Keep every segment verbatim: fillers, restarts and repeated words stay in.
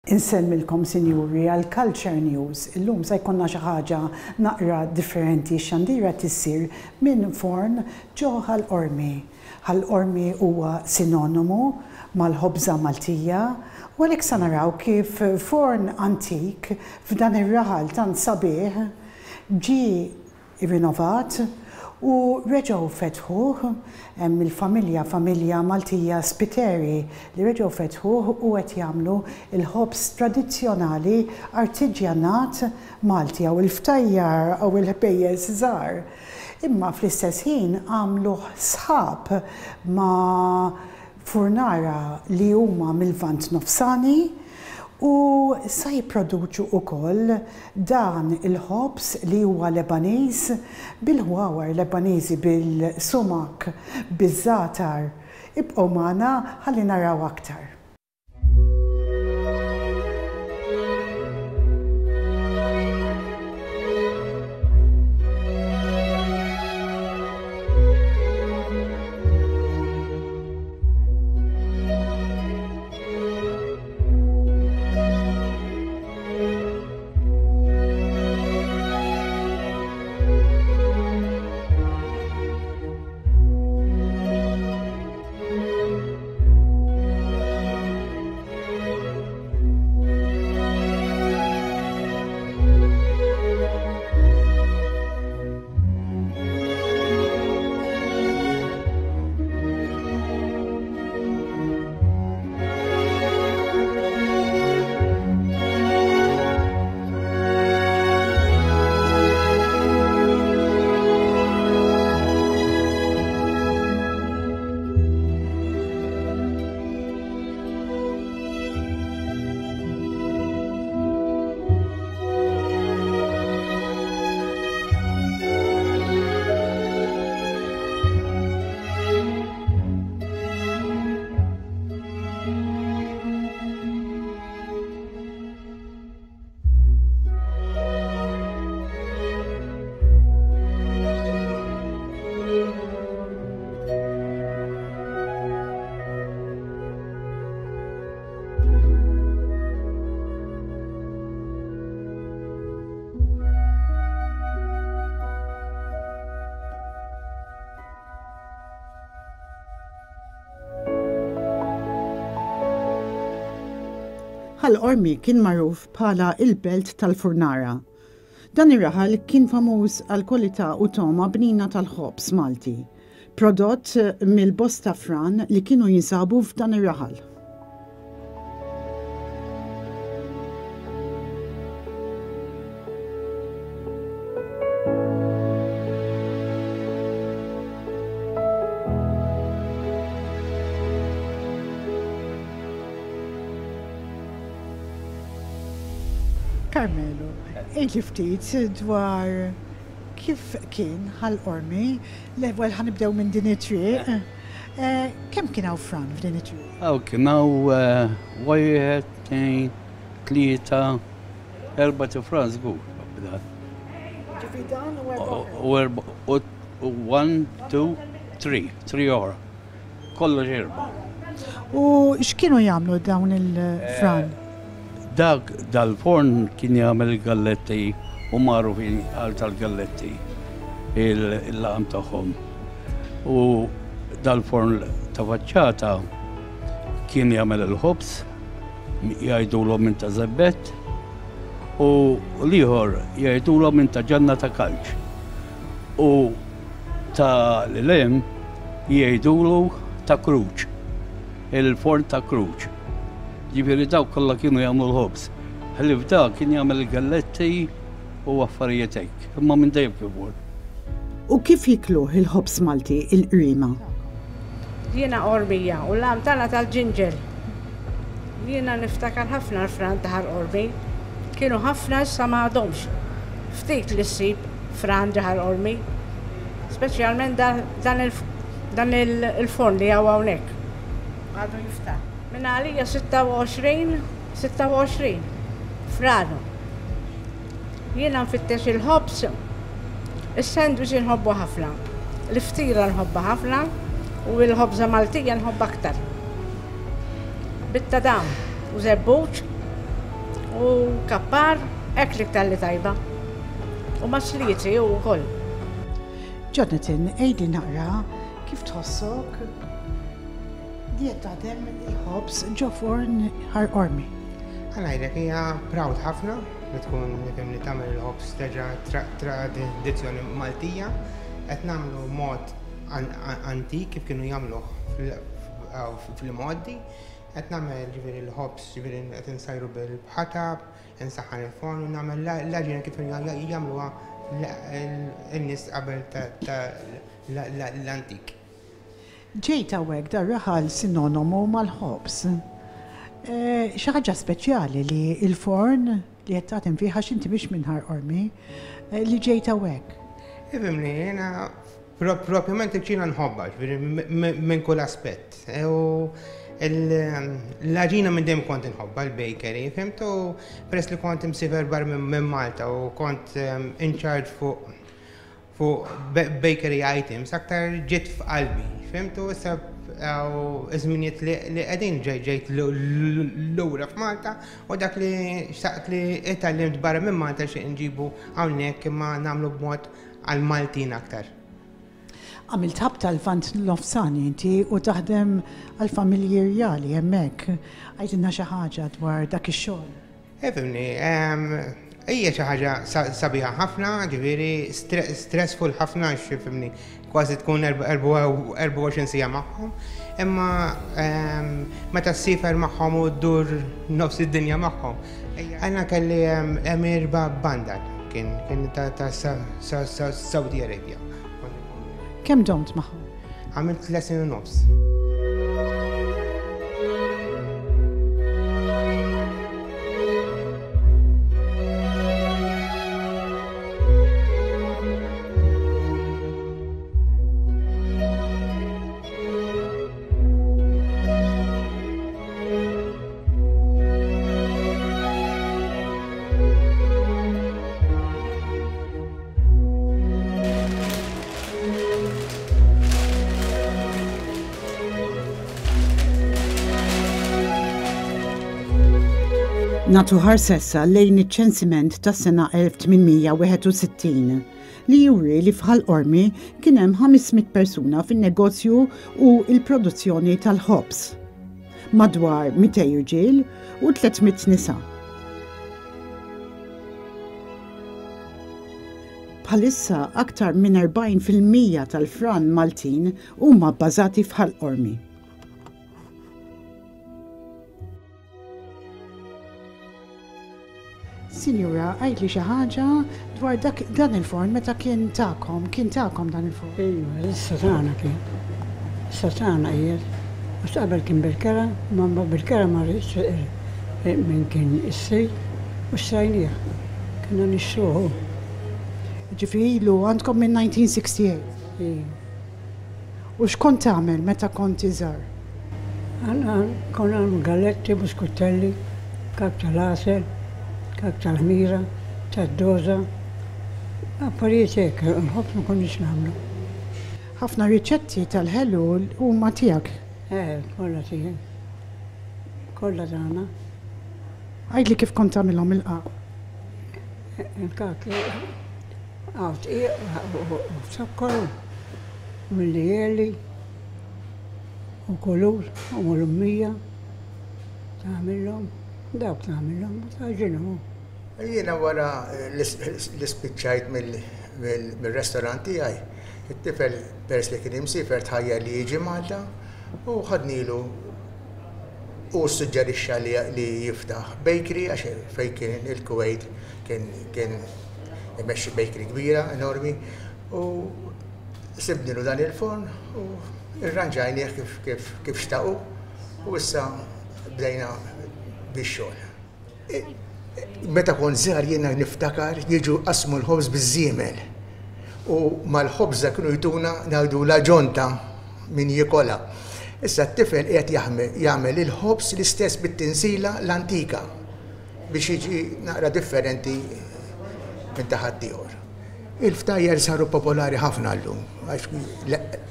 Insellmilkom, sinjuri, għal Culture News. Illum se jkollna xi ħaġa naqra differenti. Xandira tissir minn forn ġo Ħal Qormi. Ħal Qormi huwa sinonimu mal-ħobża Maltija u għalhekk sa naraw kif forn antik f'dan ir-raħal tant sabiħ ġie rinnovat u reġgħu fetħuh. Hemm il-familja, familja Maltija Spiteri, li reġgħu fetħuh u qed jagħmlu il-ħobż tradizzjonali artiġjanat Malti jew il-ftajjar jew il-ħbejjeż żgħar. Imma fl-istess ħin għamlu sħab ma' furnara li huma mill-Lvant Nofsani u sa jipproduċu wkoll dan il-ħobż li huwa Lebaniż bil-ħwawar Lebaniżi, bil-sumak, biż-żatar. Ibqgħu magħna ħalli naraw aktar. Ħal Qormi kien magħruf bħala il-belt tal-furnara. Dan ir-raħal kien famuż għal kwalità u togħma bnina tal-ħobż Malti, prodott mill-bosta fran li kienu jinsabu f'dan ir-raħal. Carmelo, għidli ftit dwar kif kien Ħal Qormi. L-ewwel ħa nibdew minn din it-triq. Eh, kemm kien hawn fran f'din it-triq? Hawn kien hawn wieħed, tnejn, tlieta, erba' fran żgur. Ġifieri dan u erba'. U erba' u one, two, three, three oħra. Kollox erba'. U x'kienu jagħmlu dawn il-fran? Dak dal-forn kien jagħmel il-galletti u magħrufin għal tal-galletti il-laqam tagħhom. U dal-forn ta' faċċata kien jagħmel il-ħobż, jgħidulhom minn ta' żebbett, u l-ieħor jgħidulhom minn ta' ġanna ta' kalċ. U ta' l-lem jgħidulu ta' kruċ, il-forn ta' kruċ. Ġifieri dawk kollha kienu jagħmlu l-ħobż. Ħlief dak kien jagħmel il-galletti u affarijiet hekk, imma minn dejjem kif ukoll. U kif jikluh il-ħobż Malti il-Qriema? Jiena Qormija u l-għam tagħna tal-ġinġel. Jiena niftakar ħafna l-fran ta' Ħal Qormi. Kienu ħafna, issa ma għadhomx. Ftit li ssib fran ġo Ħal Qormi. Speċjalment dan il-forn li hawn hawnhekk. Għadu jiftaħ. Minn għalija sitta u għoxrin, sitta u għoxrin, franu. Jiena nfittex il-ħobż, is-sandwich nħobbu ħafna, l-iftira nħobba ħafna u l-ħobża Maltija nħobba aktar. Bitta dam u żebbuġ U kappar, hekk l-iktar li tajba. U masliti u wkoll. Jonathan, għidli naqra kif tħossok li qed taħdem il-ħobż ġo forn Ħal Qormi. Ħa ngħidlek hija proud ħafna li tkun li tagħmel il-ħobż terġa' tradizzjoni Maltija, qed nagħmlu mod antik kif kienu jagħmluh fil-modi, qed nagħmel ġifieri l-ħobż ġifieri qed insajru bil-ħatab, insaħħan il-forn u nagħmel l-għaġina kif jagħmluha in-nies qabel l-antik. Ġejt hawnhekk dar-raħal sinonimu mal-ħobż. Xi ħaġa speċjali li l-forn li qed taħdem fih għax inti mhix minn Ħal Qormi li ġejt hawnhekk. Ifhimni, jiena propjament il-kċina nħobbha, ġifieri minn kull aspett. U l-għaġina minn dejjem kont inħobbha, l-bakery, fhimt, u peress li kont imsiefer barra minn Malta u kont in charge fuq fuq bakery items, aktar ġiet f'qalbi, fhimt, u issa iż-żminijiet li qegħdin ġejt lura f'Malta u dak li xtaqt li tgħallimt barra minn Malta xi nġibu hawnhekk imma nagħmlu b'mod għall-Maltin aktar. Għamilt ħabta l-Lvant Nofsani inti u taħdem għal-familji rjali hemmhekk. Għidilna xi ħaġa dwar dak ix-xogħol. Ifhimni, hija xi ħaġa sabiħa ħafna, ġifieri stressful ħafna għax ifhimni kważi tkun erbgħa u għoxrin siegħa magħhom, imma meta ssiefer magħhom u ddur nofs id-dinja magħhom. Għandna kelli Emir Bandar, kien ta' Saudi Arabia. Kemm domt magħhom? Għamilt tliet snin u nofs. Nagħtu ħarsa issa lejn iċ-ċensiment tas-sena elf tmien mija wieħed u sittin li juri li f'Ħal Qormi kien hemm ħames mitt persuna fin-negozju u l-produzzjoni tal-ħobż. Madwar mitejn irġiel u tliet mitt nisa. Bħalissa aktar minn erbgħin fil-mija tal-fran Maltin huma bbażati f'Ħal Qormi. Sinjura, għidli xi ħaġa dwar dak dan il-forn meta kien tagħkom, kien tagħkom dan il-forn? Ejwa, issa tagħna kien. Issa tagħna qiegħed. Għax qabel kien bil-kera, ma bil-kera ma rridx minn kien is-sejt u xtrajnieh. Kienna nixtruhu. Ġifieri ilu għandkom minn nineteen sixty-eight? Ejwa. U x'kont tagħmel meta kont iżgħar? Għandna konna nagħmlu galletti, buskuttelli, kak tal-għasel, kak tal-ħmira, tad-doża, affarijiet hekk, nħobb ma konniex nagħmlu. Ħafna riċetti tal-ħelu huma tiegħek? Eh, kollha tiegħi. Kollha tagħna. Għidli kif kont tagħmilhom il-qaq? Il-kak, għaw tqiq u zokkor, mill-li u kulur u mulummija, tagħmilhom, dawk tagħmilhom, taġinhom. Jiena wara li spiċċajt mill-restorant tiegħi, it-tifel peress li kien imsiefer tħajjar li jiġi Malta u ħadnilu u suġġerixxa li jiftaħ bakery għax fejn kien il-Kuwait kien, kien imexxi bakery kbira enormi u sibnilu dan il-forn u irranġajnieh kif, kif, kif xtaqu u issa bdejna bix-xogħol. Meta kont żgħar jiena niftakar jiġu qasmu l-ħobż biż-żiemel u mal-ħobża kienu jtuna ngħidu la ġonta min jikola. Issa t-tifel qiegħed jagħmel il-ħobż l-istess bit-tinsila l-antika biex jiġi naqra differenti minn ta' ħaddieħor. Il-ftajjer saru popolari ħafna llum, għax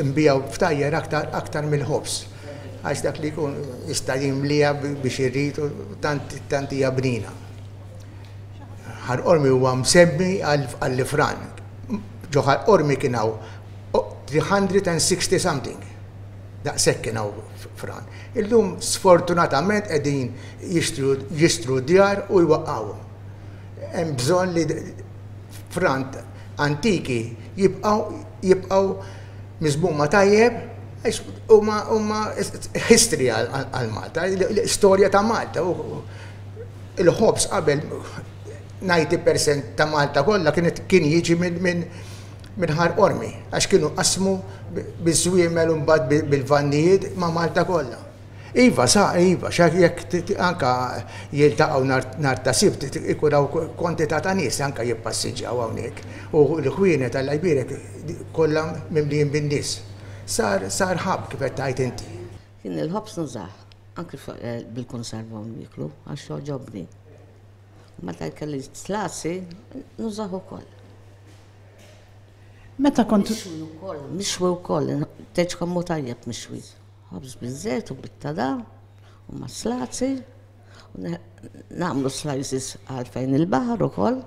nbijaw ftajjer aktar, aktar mill-ħobż, għax dak li jkun jista' jimlija biex irrid u tant, tant hija bnina. Ħal Qormi huwa msemmi għall-ifran. Ġo Ħal Qormi kien hawn three hundred sixty something. Daqshekk kien hawn fran. Illum sfortunatament qegħdin jixtru djar u jwaqqgħuhom. Hemm bżonn li fran antiki jibqgħu jibqgħu miżmuma tajjeb għax huma huma history għal Malta, l-istorja ta' Malta. Il-ħobż qabel disgħin fil-mija ta' Malta kollha kienet kien jiġi minn minn minn Ħal Qormi, għax kienu qasmu biż-żwiemel u mbagħad bil-vannijiet ma' Malta kollha. Iva, sa, iva, xa jekk anka jiltaqgħu nhar ta' Sibt ikun hawn kwantità ta' nies anka jippassiġġaw hawnhekk. U l-ħwienet, Alla jbierek, kollha mimlijin bin-nies. Sar sar hub kif qed tgħid inti. Kien il-ħobż nużah, anki eh, bil-konserva nieklu, għax jogħġobni. Meta kelli zlazi, nużah ukoll. Meta kont Mixwi wkoll, mixwi wkoll, tgħidx kemm hu tajjeb mixwi. Ħobż biż-żejt u bit-tadam u ma' zlazi. Nagħmlu slices għal fejn il-baħar ukoll.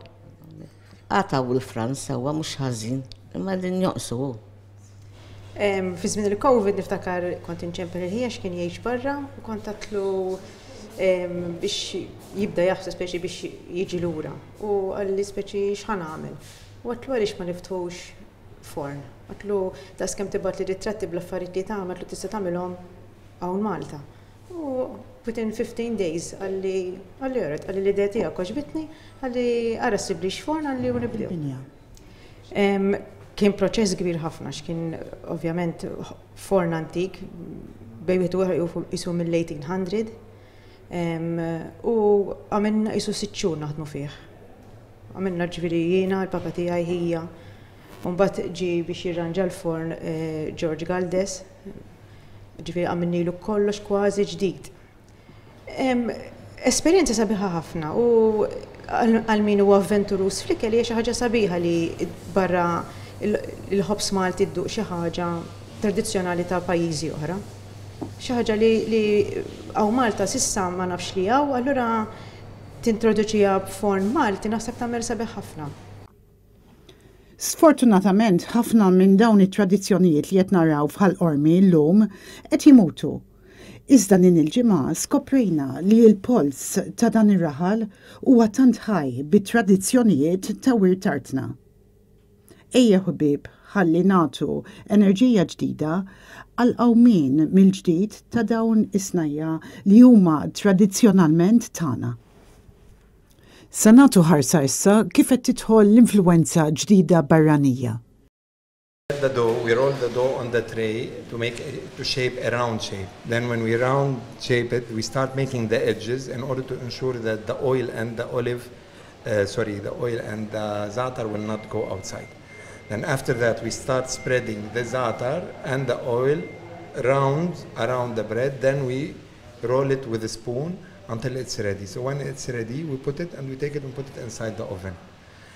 Għataw il-fran sewwa mhux ħażin, imma din joqsu. Fi żmien il-Covid niftakar kont inċempel lil ħija kien jgħix barra u kont għedtlu biex jibda jaħseb speċi biex jiġi lura. U qalli speċi x'ħa nagħmel. U għedtlu għaliex ma niftħux forn. Għedtlu daqs kemm tibgħatli ritratti bl-affarijiet li tagħmel, għedtlu tista' tagħmilhom hawn Malta. U within fifteen days qalli qalli alright, qalli l-idea tiegħek għoġbitni, qalli ara ssiblix forn, qalli u nibdew. Kien proċess kbir ħafna, x'kien ovvjament forn antik, bejn wieħed u ieħor qisu mill-eighteen hundred, u għamilna qisu sitt xhur naħdmu fih. Għamilna ġifieri jiena, il-papa tiegħi, ħija. Mbagħad ġi biex jirranġa l-forn eh, George Galdes, ġifieri għamilnilu kollox kważi ġdid. Esperjenza sabiħa ħafna u għal min huwa avventurus fl-ikel hija xi ħaġa sabiħa li barra il-ħobż Malti dduq xi ħaġa tradizzjonali ta' pajjiżi oħra. Xi ħaġa li, li hawn Malta s'issa ma nafx li hawn, allura tintroduċiha b'forn Malti naħseb tagħmel sabiħ ħafna. Sfortunatament, ħafna minn dawn it-tradizzjonijiet li qed naraw f'Ħal Qormi llum qed jimutu. Iżda din il-ġimgħa skoprejna li l-pols ta' dan ir-raħal huwa tant ħaj bit-tradizzjonijiet ta' wirt artna. Ejja ħbieb, ħalli nagħtu enerġija ġdida għal qawmien mill-ġdid ta' dawn is-snajja li huma tradizzjonalment tagħna. Sa nagħtu ħarsa issa kif qed tidħol l-influenza ġdida barranija. The dough, we roll the dough on the tray to make to shape a round shape. Then when we round shape it, we start making the edges in order to ensure that the oil and the olive, uh, sorry, the oil and the za'atar will not go outside. Then after that, we start spreading the za'atar and the oil round around the bread. Then we roll it with a spoon until it's ready. So when it's ready, we put it and we take it and put it inside the oven.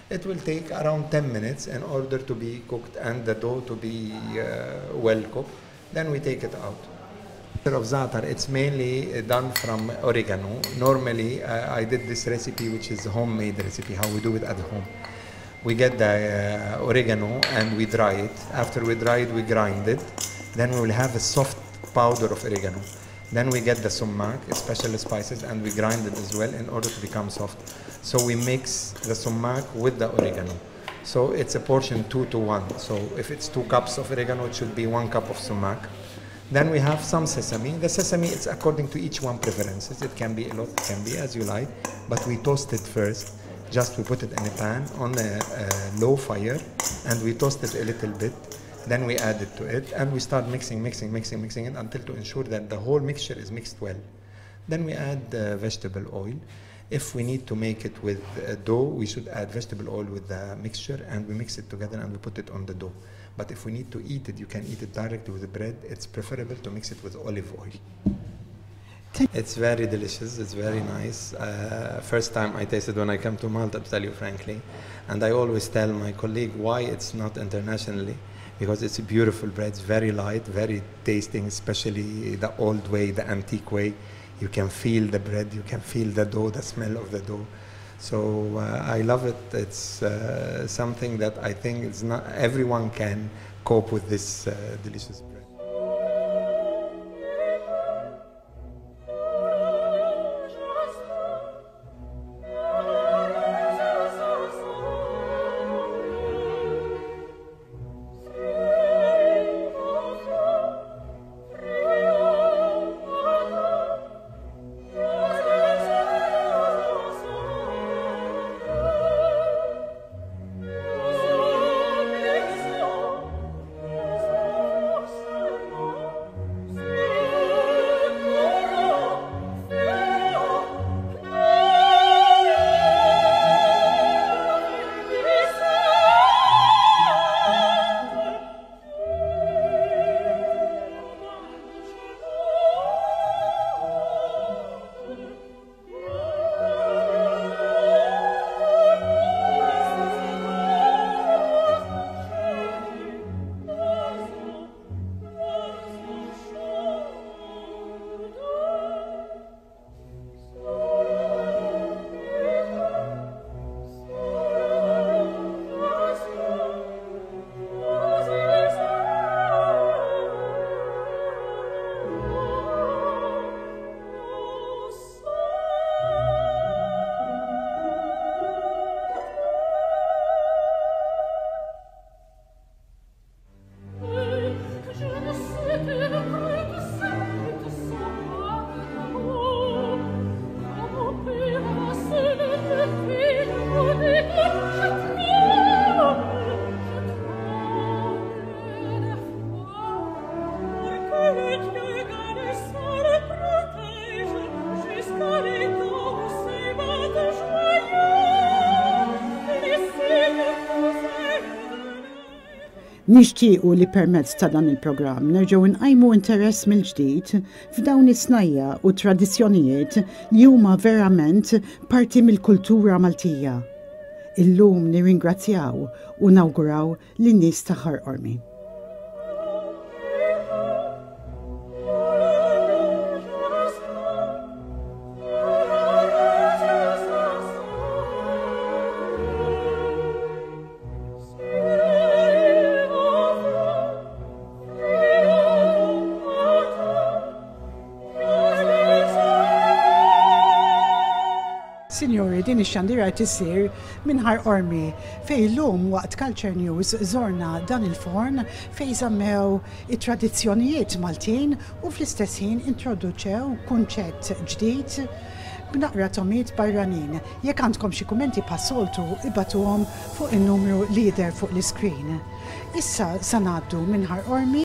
It will take around ten minutes in order to be cooked and the dough to be uh, well cooked. Then we take it out. Of za'atar, it's mainly done from oregano. Normally, uh, I did this recipe, which is homemade recipe, how we do it at home. We get the uh, oregano and we dry it. After we dry it, we grind it. Then we will have a soft powder of oregano. Then we get the sumac, special spices, and we grind it as well in order to become soft. So we mix the sumac with the oregano. So it's a portion two to one. So if it's two cups of oregano, it should be one cup of sumac. Then we have some sesame. The sesame, it's according to each one preferences. It can be a lot, it can be as you like, but we toast it first. Just we put it in a pan on a, a low fire and we toast it a little bit. Then we add it to it and we start mixing, mixing, mixing, mixing it until to ensure that the whole mixture is mixed well. Then we add uh, vegetable oil. If we need to make it with uh, dough, we should add vegetable oil with the mixture and we mix it together and we put it on the dough. But if we need to eat it, you can eat it directly with the bread. It's preferable to mix it with olive oil. It's very delicious. It's very nice. Uh, first time I tasted when I came to Malta, to tell you frankly. And I always tell my colleague why it's not internationally. Because it's a beautiful bread, it's very light, very tasting, especially the old way, the antique way. You can feel the bread, you can feel the dough, the smell of the dough. So uh, I love it. It's uh, something that I think it's not everyone can cope with this uh, delicious bread. Nixtiequ li permezz ta' dan il-programm nerġgħu nqajmu interess mill-ġdid f'dawn is-snajja u tradizzjonijiet li huma verament parti mill-kultura Maltija. Illum nirringrazzjaw u nawguraw lin-nies ta' Ħal Qormi. Signori, din ix-xandira qed issir minn Ħal Qormi fejn illum waqt Culture News żorna dan il-forn fejn żammew it-tradizzjonijiet Maltin u fl-istess ħin introduċew kunċett ġdid b'naqra togħmiet barranin. Jekk għandkom xi kummenti bħas-soltu ibagħtuhom fuq in-numru li jidher fuq l-iskrin. Issa sa ngħaddu minn Ħal Qormi.